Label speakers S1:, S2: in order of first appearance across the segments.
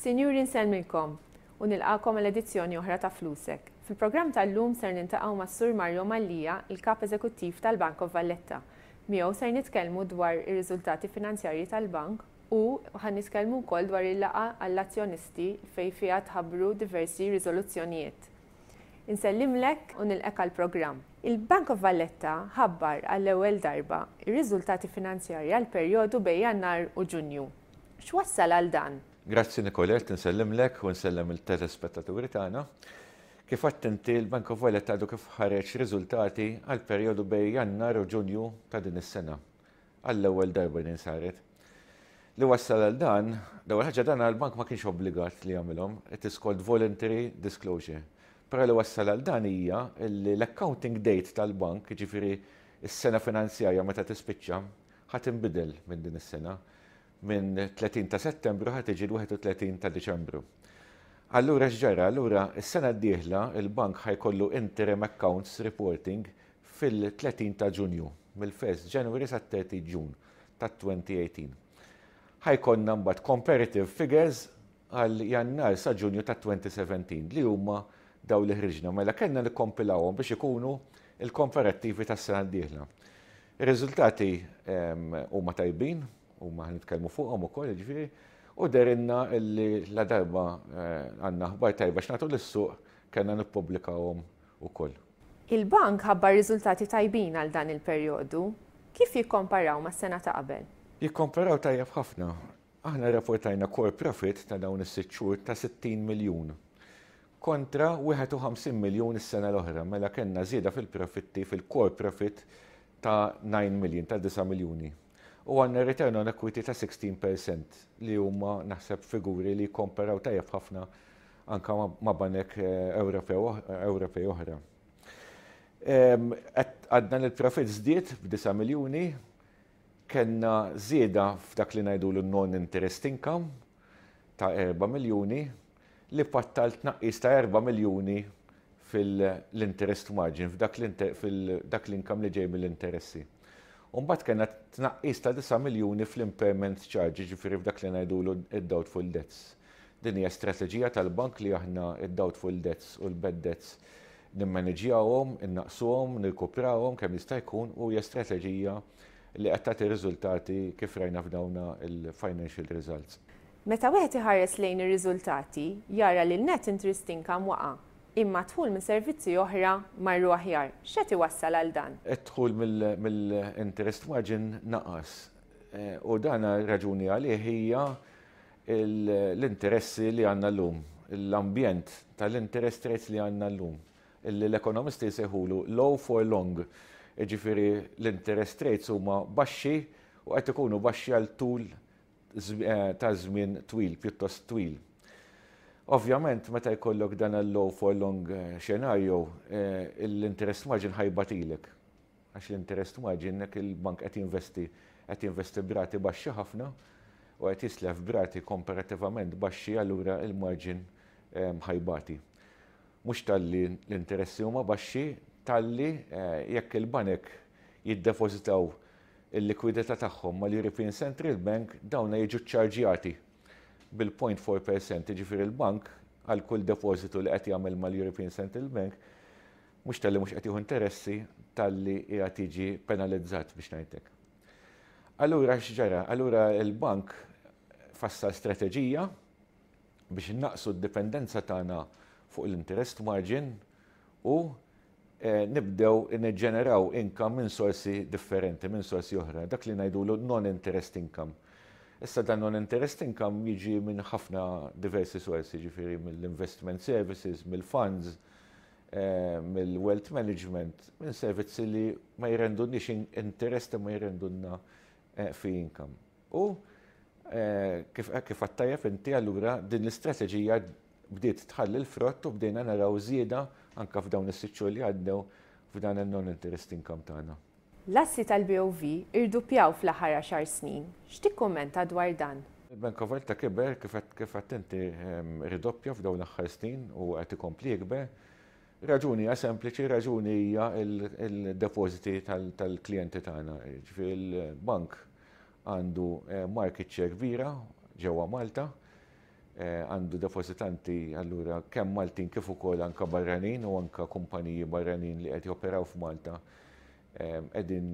S1: Sinjuri, nsellmilkom u nilqagħkom għal edizzjoni oħra ta' Flusek. Fil-programm tal-lum ser niltaqgħu mas-Sur Mario Mallia, il-Kap Eżekuttiv tal-Bank of Valletta. Miegħu ser nitkellmu dwar ir-riżultati finanzjarji tal-bank u ħa nitkellmu wkoll dwar il-laqgħa għall-azzjonisti fejn fiha tħabbru diversi riżoluzzjonijiet. Insellimlek u nilqek għall-programm. Il-Bank of Valletta ħabbar għall-ewwel darba ir-riżultati finanzjarji għall-perjodu bejn Jannar u Ġunju. X'wassal għal dan?
S2: Grazzi, Nicolette, nsellimlek u nsellem il-telespettaturi tagħna. Kif għedt inti, l-Bank of Valletta għadu kif ħareġ riżultati għal perjodu bejn Jannar u Ġunju ta' din is-sena. Għall-ewwel darba din saret. Li wassal għal dan, l-ewwel ħaġa, dan għall-bank ma kienx obbligat li jagħmilhom, it is called voluntary disclosure. Però li wassal għal dan hija li l-accounting date tal-bank, jiġifieri s-sena finanzjarja meta tispiċċa, ħa tinbidel minn din is-sena. Minn 30 ta' Settembru ħa tiġi l-31 ta' Diċembru. Allura x'ġara? Allura s-sena d-dieħla il-bank ħa jkollu interim accounts reporting fil-30 ta' Ġunju, mill-1 January sa 30 June ta' 2018. Ħa jkollna mbagħad comparative figures għal Jannar sa Ġunju ta' 2017 li huma daw li ħriġna. Mela kellna nikkompilawhom biex ikunu il-komparattivi tas-sena d-dieħla. Ir-riżultati huma tajbin, huma ħa nitkellmu fuqhom ukoll, jiġifieri, u dehrilna li la darba għandna aħbar tajba x'nagħtu lis-suq, kellna nippubblikawhom ukoll.
S1: Il-bank ħabbar riżultati tajbin għal dan il-perjodu. Kif jikkomparaw mas-sena ta' qabel?
S2: Jikkomparaw tajjeb ħafna. Aħna rrapportajna core profit ta' dawn is-6 xhur ta' 60 miljun kontra 51 miljun is-sena l-oħra, mela kellna żieda fil-profitti, fil-core profit ta' 9 million, ta' 9 miljuni. U għandna return on equity ta' 16% li huma, naħseb, figuri li jkomparaw tajjeb ħafna anka ma' banek Ewropej oħra. Għadna l-profit żdied b'9 miljuni, kellna żieda f'dak li ngħidu non-interest income ta' 4 miljuni li pattal tnaqqis ta' 4 miljuni fil-interest margin, f'dak l-income li ġej mill-interessi. Umbagħad kellna tnaqqis ta' 9 miljuni fl-impairment charge, ġifieri f'dak li ngħidulu id-doubtful debts. Din hija strateġija tal-bank li aħna id-doubtful debts u l-bad debts nimmaneġjawhom, innaqsuhom, nirkuprawhom kemm jista' jkun u hija strateġija li qed tagħti riżultati kif rajna f'dawna il-financial results.
S1: Meta wieħed iħares lejn ir-riżultati, jara li l-net interest income waqa', imma dħul minn servizzi oħra marru aħjar. X'qed iwassal għal dan?
S2: Id-dħul mill-interest margin naqas. U dan raġuni għalih hija l-interessi li għandna llum, l-ambjent tal-interest rates li għandna llum, illi l-ekonomisti jsejħulu low for long. Ġifieri l-interest rates huma baxxi u qed ikunu baxxi għal tul ta' żmien twil, pjuttost twil. Ovvjament, meta jkollok dan il-low for long scenario, l-interest margin ħa jbatilek. Għax l-interest margin, jekk il-bank qed jinvesti b'rati baxxi ħafna u qed jislef b'rati komparativament baxxi, allura il-margin ħa jbati. Mhux talli l-interessi huma baxxi, talli jekk il-banek jiddepożitaw il-likwidità tagħhom mal-European Central Bank, dawna jiġu ċarġjati bil-0.4%, ġifieri l-bank għal kull depożitu li qed jagħmel mal-European Central Bank, mhux talli mhux qed jieħu interessi, talli qiegħed jiġi penalizzat, biex ngħidlek. Allura x'ġara? Allura il-bank fassal strateġija biex innaqsu d-dipendenza tagħna fuq l-interest margin u nibdew niġġeneraw income minn sorsi differenti, minn sorsi oħra, dak li ngħidulu non-interest income. Issa dan non-interest income jiġi minn ħafna diversi sorsi, ġifieri mill-investment services, mill-funds, mill-wealth management, minn servizzi li ma jirrendunniex interest, ma jirrendunna fee income. U kif għedt tajjeb inti, allura din l-istrateġija bdiet tħalli l-frott u bdejna naraw żieda anka f'dawn is-6 xhur li għaddew f'dan il-non-interest income tagħna.
S1: L-assi tal-BOV irduppjaw fl-aħħar 10 snin. X'tikkummenta dwar dan?
S2: Il-Bank of Valletta kiber, kif għedt inti, irdoppja f'dawn l-aħħar snin u qed ikompli jikber. Raġuni hija sempliċi, raġuni hija il-depositi tal-klijenti tagħna. Ġifieri l-bank għandu market share kbira ġewwa Malta. Għandu depożitanti allura kemm Maltin kif ukoll anke barranin u anke kumpaniji barranin li qed joperaw f'Malta qegħdin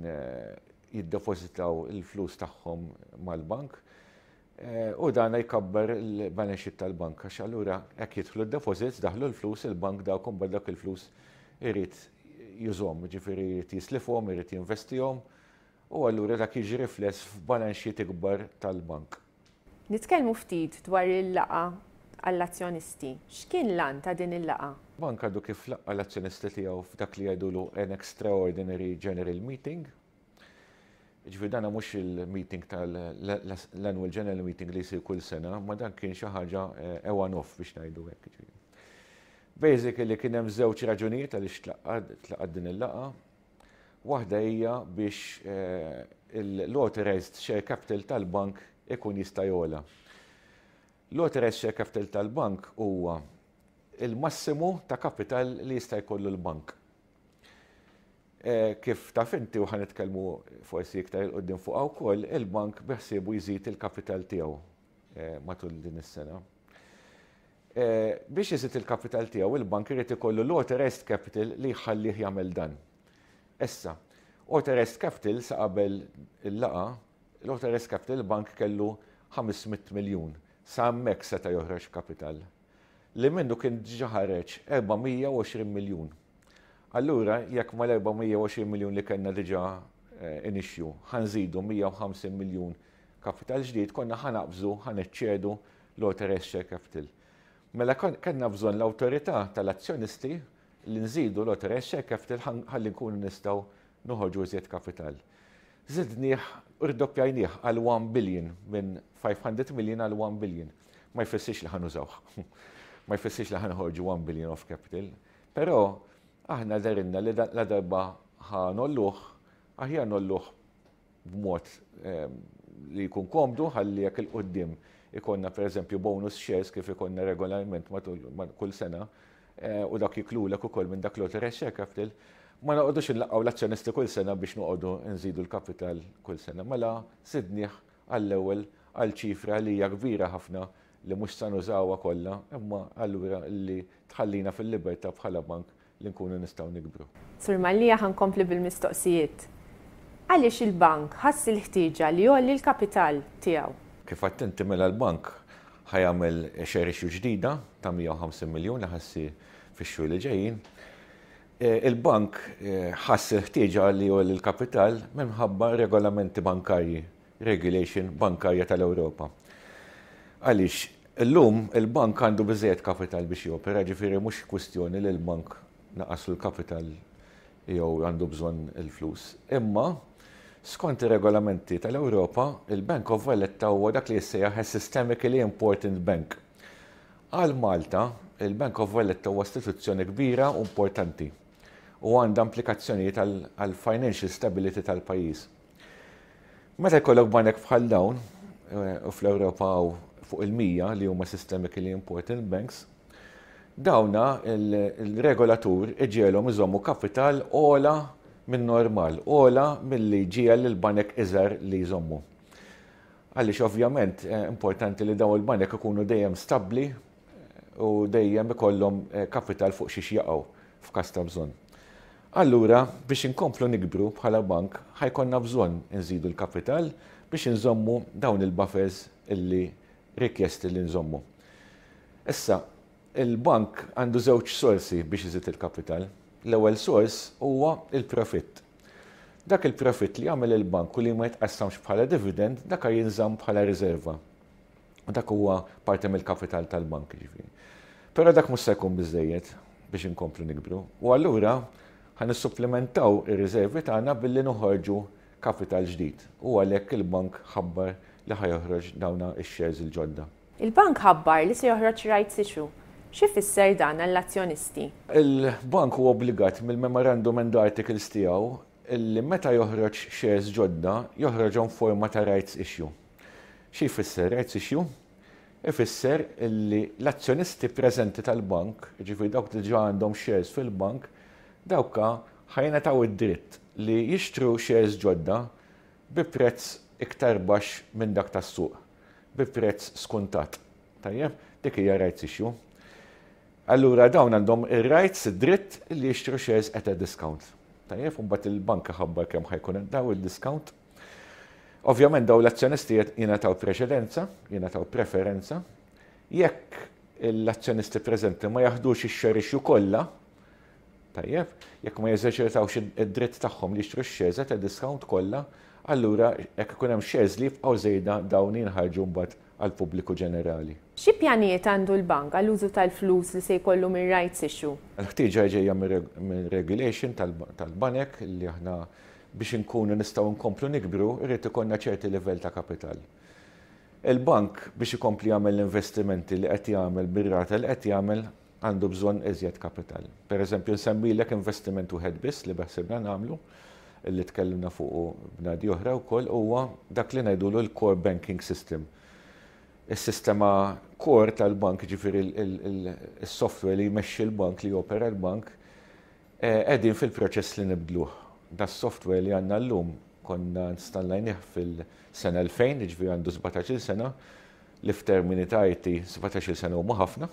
S2: jiddepożitaw il-flus tagħhom mal-bank. U dan jkabbar il-balance sheet tal-bank għax allura hekk jidħlu d-deposits, daħlu l-flus, il-bank dawk imbagħad dak il-flus irid jużhom, jiġifieri jrid jislifhom, irid jinvestihom u allura dak jiġi rifless f'balance sheet ikbar tal-bank.
S1: Nitkellmu ftit dwar il-laqgħa għall-azzjonisti. X'kien l-għan ta' din il-laqgħa?
S2: Bank għadu kif laqqa' l-azzjonisti tiegħu f'dak li jgħidulu an extraordinary general meeting. Jiġifieri dan mhux il-meeting tal-annual general meeting li jsir kull sena, ma dan kien xi ħaġa a one-off biex ngħidu hekk. Jiġifieri. Basically kien hemm żewġ raġunijiet għaliex tlaqgħet din il-laqgħa. Waħda hija biex l-authorized share capital tal-bank ikun jista' jogħla. L-authorized share capital tal-bank huwa il-massimu ta' kapital li jista' jkollu l-bank. Kif taf inti u ħa nitkellmu forsi iktar 'il quddiem fuqha wkoll, il-bank beħsiebu jżid il-kapital tiegħu matul din is-sena. Biex iżid il-kapital tiegħu, il-bank irid ikollu l-authorized capital li jħallih jagħmel dan. Issa, authorized capital sa qabel il-laqgħa, l-authorized capital il-bank kellu 500 miljun. Sa hemmhekk seta' joħroġ kapital. Li minnu kien diġà ħareġ 420 miljun. Allura, jekk mal-420 miljun li kellna diġà in issue, ħa nżidu 150 miljun kapital ġdid, konna ħa naqbżu, ħa neċċedu l-authorized share capital. Mela kellna bżonn l-awtorità tal-azzjonisti li nżidu l-authorized share capital ħalli nkunu nistgħu noħorġu iżjed kapital. Żidnieh, irdoppjajnieh għal 1 billion minn 500 million għal 1 billion. Ma jfissirx li ħa nużawh. Ma jfissirx li ħa noħorġu 1 billion of capital. Però aħna dehrilna li la darba ħa ngħolluh, aħjar ngħolluh b'mod li jkun komdu ħalli jekk 'il quddiem ikollna pereżempju bonus shares kif ikollna regolarment matul kull sena u dak jiklulek ukoll minn dak l-authorized share capital, ma noqogħdux inlaqqgħu l-azzjonisti kull sena biex noqogħdu nżidu l-kapital kull sena. Mela żidnieh għall-ewwel għal ċifra li hija kbira ħafna li mhux sa nużawha kollha, imma allura li tħallina fil-libertà bħala bank li nkunu nistgħu nikbru.
S1: Sur Mallia ħa nkompli bil-mistoqsijiet. Għaliex il-bank ħass il-ħtieġa li jgħolli l-kapital tiegħu?
S2: Kif għedt inti mela l-bank ħa jagħmel share issue ġdida ta' 150 miljun li ħa ssir fix-xhur li ġejjin. Il-bank ħass il-ħtieġa li jgħolli l-kapital minħabba regolamenti bankarji regulation bankarja tal-Ewropa. Għaliex illum il-bank għandu biżejjed kapital biex jopera, ġifieri mhux kwistjoni li l-bank naqaslu l-kapital jew għandu bżonn il-flus. Imma skont ir-regolamenti tal-Ewropa, il-Bank of Valletta huwa dak li jissejjaħ a systemically important bank. Għal Malta, il-Bank of Valletta huwa istituzzjoni kbira u importanti u għandha implikazzjonijiet għal financial stability tal-pajjiż. Meta jkollok banek bħal dawn, u fl-Ewropa hawn fuq il-100 li huma systemically important banks, dawna il-regolatur iġiegħelhom iżommu kapital ogħla minn normal, ogħla milli jġiegħel lill-banek iżgħar li jżommu. Għaliex ovvjament importanti li dawn il-banek ikunu dejjem stabbli u dejjem ikollhom kapital fuq xiex jaqgħu f'każ ta' bżonn. Allura, biex inkomplu nikbru bħala bank, ħa jkollna bżonn inżidu l-kapital biex inżommu dawn il-buffers illi rikjesti li nżommu. Issa, il-bank għandu żewġ sorsi biex iżid il-kapital. L-ewwel sors huwa il-profitt. Dak il-profitt li jagħmel il-bank u li ma jitqassamx bħala dividend, dak jinżamm bħala riserva. U dak huwa parti mill-kapital tal-bank jiġifieri. Però dak mhux se jkun biżejjed biex inkomplu nikbru. U allura ħa nissupplimentaw ir-riservi tagħna billi noħorġu kapital ġdid. U għalhekk il-bank ħabbar li ħa joħroġ dawna x-shares il-ġodda.
S1: Il-bank ħabbar li se joħroġ rights issue. X'ifisser dan għall-azzjonisti?
S2: Il-bank huwa obbligat mill-Memorandum and Articles tiegħu li meta joħroġ shares ġodda, joħroġhom f'forma ta' rights issue. Xi jfisser rights issue? Ifisser li l-azzjonisti preżenti tal-bank, jiġifieri dawk li diġà għandhom shares fil-bank, dawk ħa jingħataw id-dritt li jixtru shares ġodda bi prezz iktar baxx minn dak tas-suq, bi prezz skuntat. Tajjeb? Dik hija rights issue. Allura dawn għandhom ir-rights, id-dritt li jixtru shares at a discount. Tajjeb, u mbagħad il-bank iħabbar kemm ħa jkun daw il-discount. Ovvjament daw l-azzjonisti jingħataw preċedenza, jingħataw preferenza. Jekk l-azzjonisti preżenti ma jaħdux ix-share issue kollha, tajjeb, jekk ma jeżerċitawx id-dritt tagħhom li jixtru x-shares at a discount kollha, allura jekk ikun hemm shares li jibqgħu żejda, dawn jinħarġu mbagħad għall-pubbliku ġenerali.
S1: Xi pjanijiet għandu l-bank għall-użu tal-flus li se jkollu minn rights issue?
S2: Il-ħtieġa ġejja mir-regulation tal-banek li aħna, biex inkunu nistgħu nkomplu nikbru, irid ikollna ċerti livell ta' kapital. Il-bank, biex ikompli jagħmel l-investimenti li qed jagħmel bir-rata li qed jagħmel, għandu bżonn iżjed kapital. Per eżempju, nsemmilek investiment wieħed biss li beħsibna nagħmlu, li tkellimna fuqu bnadi oħra wkoll, huwa dak li ngħidulu l-core banking system. Is-sistema core tal-bank, ġifieri il-software li jmexxi l-bank, li jopera l-bank, qegħdin fil-proċess li nibdluh. Da software li għandna llum konna installajnih fil-sena 2000, ġifieri għandu 17 sena, li f'termini ta' IT 17 sena huma ħafna.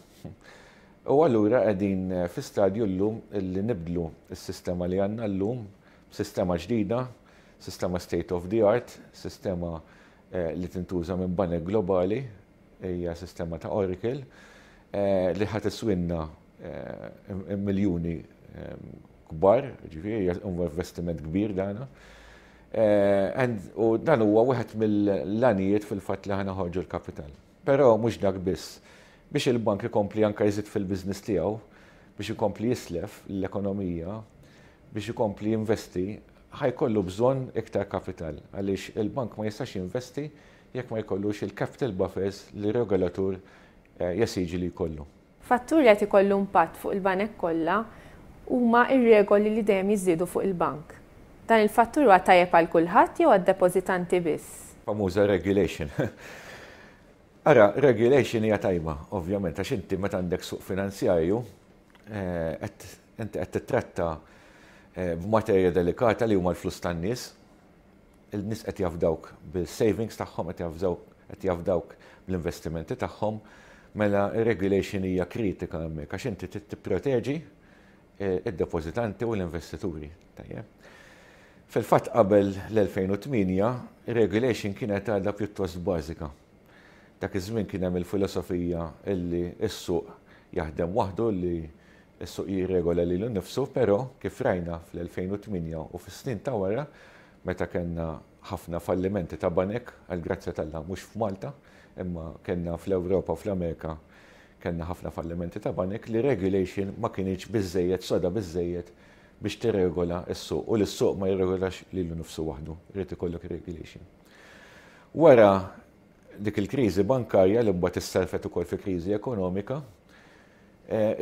S2: U allura qegħdin fi stadju llum li nibdlu s-sistema li għandna llum b'sistema ġdida, sistema state of the art, sistema li tintuża minn banek globali, hija sistema ta' Oracle, li ħa tiswinna miljuni kbar, ġifieri huwa investiment kbir dana. U dan huwa wieħed mill-għanijiet fil-fatt li ħa noħorġu l-kapital. Però mhux dak biss. Biex il-bank ikompli anke jżid fil-business tiegħu, biex ikompli jislef l-ekonomija, biex ikompli jinvesti, ħa jkollu bżonn iktar kapital, għaliex il-bank ma jistax jinvesti jekk ma jkollux il-capital buffers li regolatur jesiġi li jkollu.
S1: Fattur li qed ikollu impatt fuq il-banek kollha huma ir-regoli li dejjem jiżdiedu fuq il-bank. Dan il-fattur huwa tajjeb għal kulħadd jew għad-depożitanti biss?
S2: Famuża regulation. Ara, regulation hija tajba, ovvjament, għax inti meta għandek suq finanzjarju, inti qed titratta b'materja delikata li huma l-flus tan-nies. Il-nies qed jafdawk bil-savings tagħhom, qed jafdawk bl-investimenti tagħhom, mela regulation hija kritika hemmhekk għax inti trid tipproteġi id-depożitanti u l-investituri. Tajjeb. Fil-fatt, qabel l-2008, regulation kienet għadha pjuttost bażika. Dak iż-żmien kien hemm il-filosofija illi s-suq jaħdem waħdu, li s-suq jirregola lilu nnifsu, però kif rajna fl-2008 u fis-snin ta' wara, meta kellna ħafna fallimenti ta' banek, għal grazzja t'Alla mhux f'Malta, imma kellna fl-Ewropa u fl-Amerika kellna ħafna fallimenti ta' banek, li regulation ma kinitx biżejjed soda biżejjed biex tirregola s-suq, u li s-suq ma jirregolax lilu nnifsu waħdu, irid ikollok regulation. Wara dik il-kriżi bankarja, li mbagħad issarfet ukoll fi kriżi ekonomika,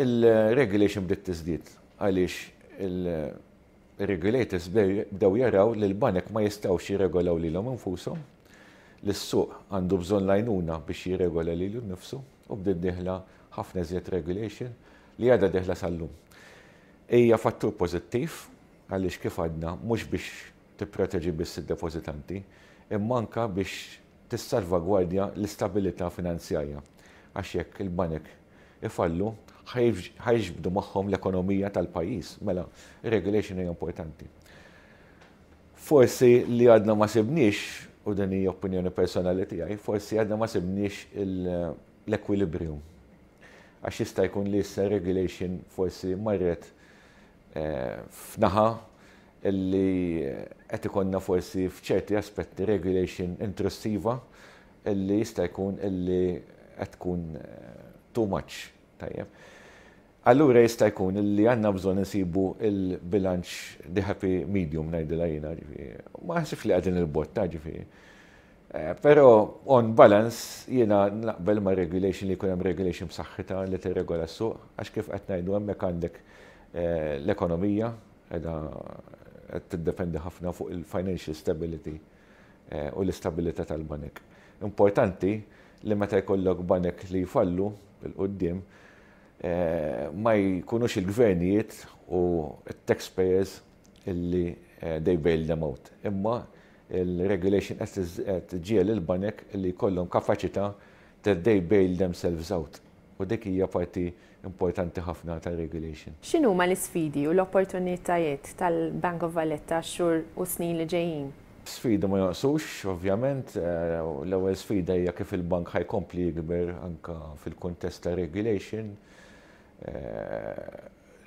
S2: il-regulation bdiet tiżdied għaliex il-regulators bdew jaraw li l-banek ma jistgħux jirregolaw lilhom infushom, li s-suq għandu bżonn l-għajnuna biex jirregola lilu nnifsu, u bdiet dieħla ħafna iżjed regulation li għadha dieħla sal-lum. Hija fattur pożittiv għaliex, kif għadna, mhux biex tipproteġi biss id-depożitanti, imma anka biex tissalvagwardja l-istabilità finanzjarja. Għax jekk il-banek ifallu, ħa jiġbdu magħhom l-ekonomija tal-pajjiż, mela regulation hija importanti. Forsi li għadna ma sibniex, u din hija opinjoni personali tiegħi, forsi għadna ma sibniex l-equilibrium. Għax jista' jkun li issa regulation forsi marret f'naħa illi qed ikollna forsi f'ċerti aspetti regulation intrusiva illi jista' jkun illi qed tkun too much. Tajjeb. Allura jista' jkun illi għandna bżonn insibu il-bilanċ, the happy medium ngħidilha jiena, ġifieri. Ma ħsibx li qegħdin il-botta, ġifieri. Però on balance jiena naqbel ma' regulation, li jkun hemm regulation b'saħħitha li tirregola s-suq, għax kif qed ngħidu, hemmhekk għandek l-ekonomija qiegħda qed tiddependi ħafna fuq il-financial stability u l-istabilità tal-banek. Importanti li meta jkollok banek li jfallu 'l quddiem, ma jkunux il-gvernijiet u t-taxpayers illi they bail them out. Imma il-regulation qed iġiegħel il-banek li jkollhom kapaċità that they bail themselves out. U dik hija parti importanti ħafna tar-regulation.
S1: X'inhuma l-isfidi u l-opportunitajiet tal-Bank of Valletta għax-xhur u s-snin li ġejjin?
S2: Sfidi ma jonqsux, ovvjament. L-ewwel sfida hija kif il-bank ħa jkompli jikber anke fil-kuntest ta' regulation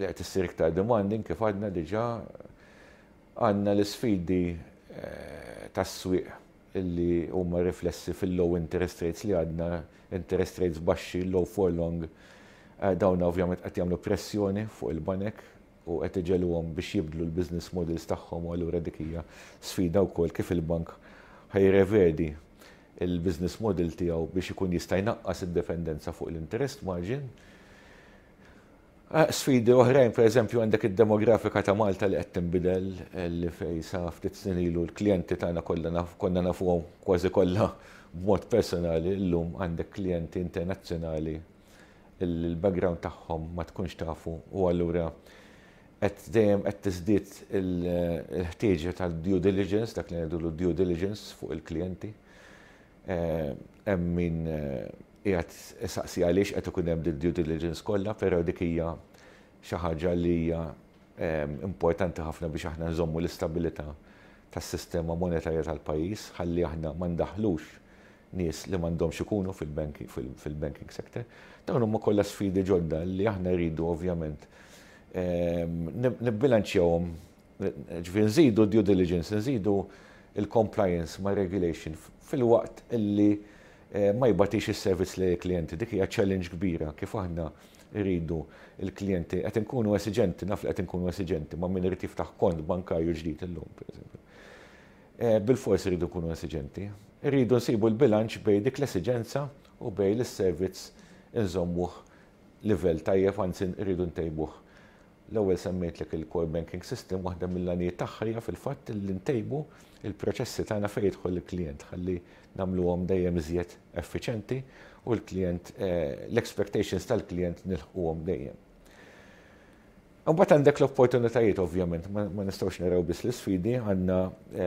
S2: li qed issir iktar demanding kif għadna diġà. Għandna l-isfidi tas-swieq li huma riflessi fil-low interest rates li għadna, interest rates baxxi, low for long, dawn ovvjament qed jagħmlu pressjoni fuq il-banek u qed iġegħluhom biex jibdlu l-business models tagħhom u allura dik hija sfida wkoll kif il-bank ħa jirrevedi l-business model tiegħu biex ikun jista' jnaqqas id-dipendenza fuq l-interest margin. Sfidi oħrajn, per eżempju, għandek id-demografika ta' Malta li qed tinbidel, li fej sa ftit snin ilu l-klijenti tagħna kollha konna nafuhom kważi kollha b'mod personali, illum għandek klijenti internazzjonali li l-background tagħhom ma tkunx tafu u allura qed dejjem qed tiżdied il-ħtieġa tal-due diligence, dak li ngħidulu due diligence fuq il-klijenti. Hemm min qiegħed isaqsi għaliex qed ikun hemm due diligence kollha, però dik hija xi ħaġa li hija importanti ħafna biex aħna nżommu l-istabilità tas-sistema monetarja tal-pajjiż ħalli aħna ma ndaħħlux nies li m'għandhomx ikunu fil-banking sector. Dawn huma kollha sfidi ġodda li aħna rridu ovvjament nibbilanċjawhom, ġifieri nżidu due diligence, nżidu il-compliance ma' regulation filwaqt illi ma jbatix is-servizz lejn il-klijenti. Dik hija challenge kbira kif aħna rridu il-klijenti qed inkunu esiġenti, naf li qed inkunu esiġenti ma' min irid jiftaħ kont bankarju ġdid illum, pereżempju. Bilfors irridu nkunu esiġenti. Irridu nsibu l-bilanċ bejn dik l-esiġenza u bejn l-servizz inżommuh livell tajjeb, anzi rridu ntejbuh. L-ewwel semmejtlek il-core banking system, waħda mill-għanijiet tagħha hija fil-fatt li ntejbu il-proċessi tagħna fejn jidħol il-klijent ħalli nagħmluhom dejjem iżjed effiċenti u l-klijent l-expectations tal-klijent nilħquhom dejjem. Imbagħad għandek l-opportunitajiet ovvjament, ma nistgħux naraw biss l-isfidi, għandna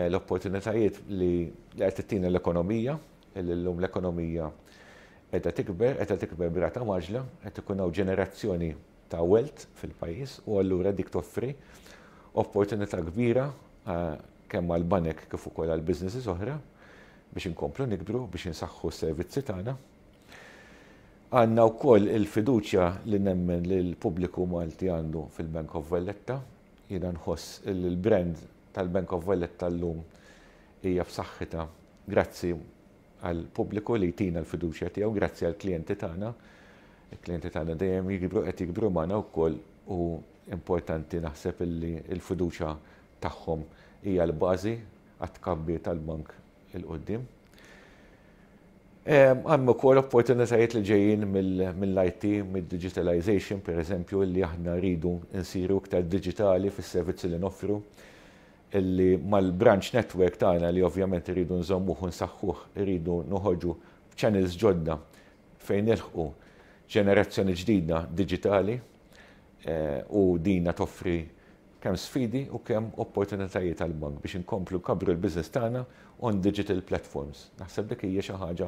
S2: l-opportunitajiet li qed tittina l-ekonomija, li llum l-ekonomija qiegħda tikber, qiegħda tikber b'rata mgħaġġla, qed ikun hawn ġenerazzjoni ta' wealth fil-pajjiż u allura dik toffri opportunità kbira kemm għall-banek kif ukoll għal businesses oħra biex inkomplu nikbru, biex insaħħu s-servizzi tagħna. Għandna wkoll il-fiduċja li nemmen li l-pubbliku Malti għandu fil-Bank of Valletta. Jiena nħoss li l-brand tal-Bank of Valletta llum hija b'saħħitha grazzi għall-pubbliku li jtina l-fiduċja tiegħu, grazzi għall-klijenti tagħna. Il-klijenti tagħna dejjem jikbru qed jikbru magħna wkoll u importanti naħseb illi l-fiduċja tagħhom hija l-bażi għat-tkabbir tal-bank 'il quddiem. Hemm ukoll opportunitajiet li ġejjin mill-IT, mid-digitalization, per eżempju, li aħna rridu nsiru iktar diġitali fis-servizzi li noffru, illi mal-branch network tagħna li ovvjament irridu nżommuh u nsaħħuh, irridu noħorġu b'channels ġodda fejn nilħqu ġenerazzjoni ġdida diġitali u dina toffri kemm sfidi u kemm opportunitajiet għall-bank biex inkomplu nkabbru l-business tagħna on digital platforms. Naħseb dik hija xi ħaġa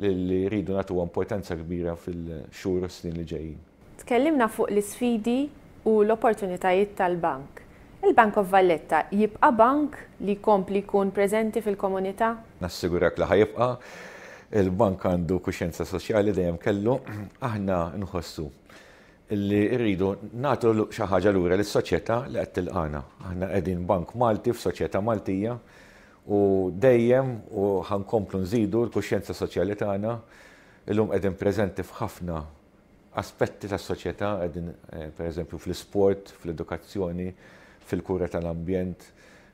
S2: li rridu nagħtuha importanza kbira fil-xhur u s-snin li ġejjin.
S1: Tkellimna fuq l-isfidi u l-opportunitajiet tal-bank. Il-Bank of Valletta jibqa' bank li jkompli jkun preżenti fil-komunità?
S2: Nassigurak li ħa jibqa'. Il-bank għandu kuxjenza soċjali dejjem kellu. Aħna nħossu li rridu nagħtu xi ħaġa lura lis-soċjetà li qed tilqagħna. Aħna qegħdin bank Malti f'soċjetà Maltija u dejjem u ħa nkomplu nżidu l-kuxjenza soċjali tagħna. Illum qegħdin preżenti f'ħafna aspetti tas-soċjetà, qegħdin pereżempju fl-isport, fl-edukazzjoni, fil-kura tal-ambjent,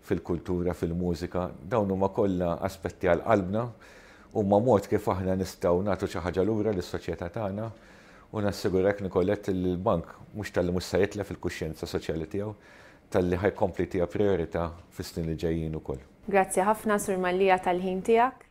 S2: fil-kultura, fil-mużika. Dawn huma kollha aspetti għal qalbna, huma mod kif aħna nistgħu nagħtu xi ħaġa lura lis-soċjetà tagħna u nassigurak Nicolette li l-bank mhux talli mhux se jitlef il-kuxjenza soċjali tiegħu, talli ħa jkompli jtiha prijorità fis-snin li ġejjin ukoll.
S1: Grazzi ħafna Sur Mallia tal-ħin tiegħek.